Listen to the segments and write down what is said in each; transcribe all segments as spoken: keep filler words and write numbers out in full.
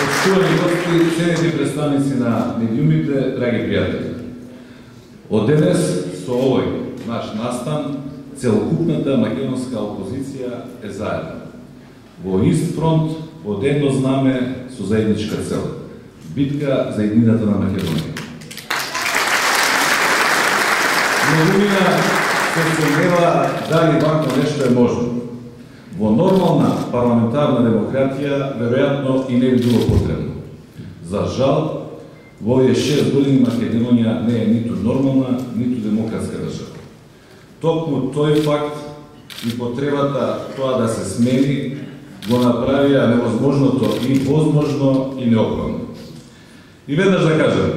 Почитувани гости, ценети представници на медиумите, драги пријатели. Од денес со овој наш настан целокупната македонска опозиција е заедно. Во ист фронт, под едно знаме со заедничка цел. Битка за иднината на Македонија. Многумина се сомнева дали вако нешто е можно. Во нормална парламентарна демократија веројатно и не би било потребно. За жал, во овие шест години Македонија не е ниту нормална, ниту демократска држава. Токму тој факт и потребата тоа да се смени го направија невозможното и возможно и неопходно. И веднаш да кажем,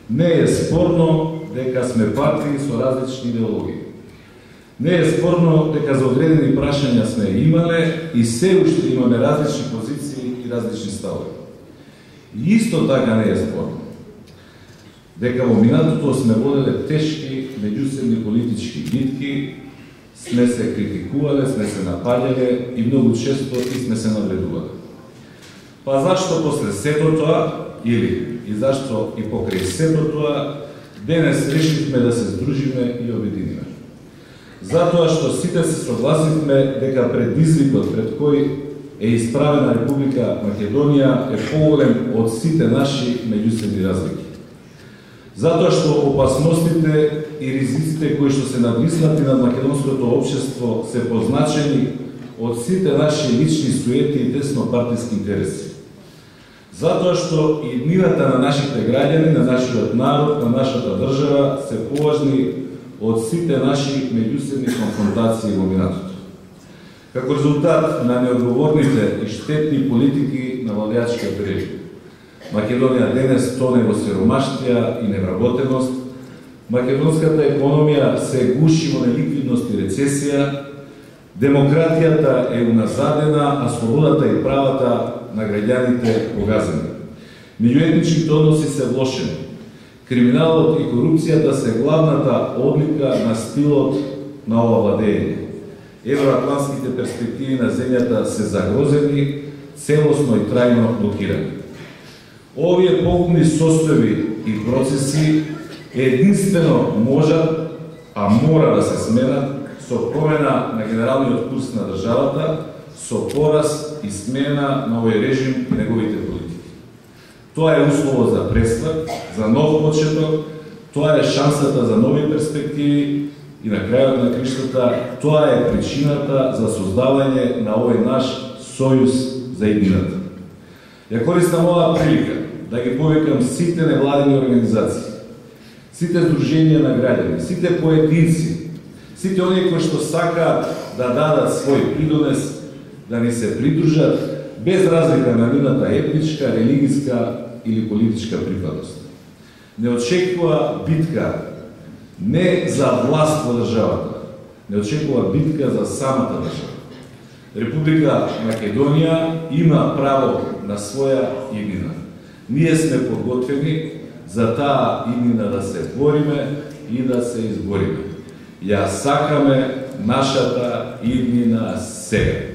не е спорно дека сме партии со различни идеологии. Не е спорно дека за одредени прашања сме имале и се уште имаме различни позиции и различни ставови. И исто така не е спорно дека во минатото сме воделе тешки меѓусебни политички битки, сме се критикувале, сме се напаѓале и многу често и сме се навредувале. Па зашто после сето тоа, или и зашто и покрај сето тоа, денес решивме да се здружиме и обединиме? Затоа што сите се согласивме дека предизвикот пред кој е исправена Република Македонија е поголем од сите наши меѓусебни разлики. Затоа што опасностите и ризиците кои што се надвиснати над македонското општество се позначени од сите наши лични суети и теснопартиски интереси. Затоа што иднината на нашите граѓани, на нашиот народ, на нашата држава се поважни од сите наши меѓусебни конфронтации во минатото. Како резултат на неодговорните и штетни политики на владеачкиот режим, Македонија денес тоне во сиромаштија и невработеност, македонската економија се гуши во неликвидност и рецесија, демократијата е уназадена, а слободата и правата на граѓаните погазени. Меѓуетничките односи се влошени. Криминалот и корупцијата се главната одлика на стилот на ова владење. Евроатлантските перспективи на земјата се загрозени, целосно и трајно блокирани. Овие погубни состојби и процеси единствено можат, а мора да се сменат со промена на генералниот курс на државата, со пораз и смена на овој режим и неговите политики. Тоа е услово за пресврт, за нов почеток, тоа е шансата за нови перспективи и на крајот на криштата, тоа е причината за создавање на овој наш сојуз за иднината. Ја користам оваа прилика да ги повикам сите невладини организации, сите здруженија на граѓани, сите поединци, сите оние кои што сакаат да дадат свој придонес, да ни се придружат, без разлика на нивната етничка, религиска или политичка припадност. Не очекува битка не за власт во државата, не очекува битка за самата држава. Република Македонија има право на своја иднина. Ние сме подготвени за таа иднина да се бориме и да се избориме. Ја сакаме нашата иднина сега.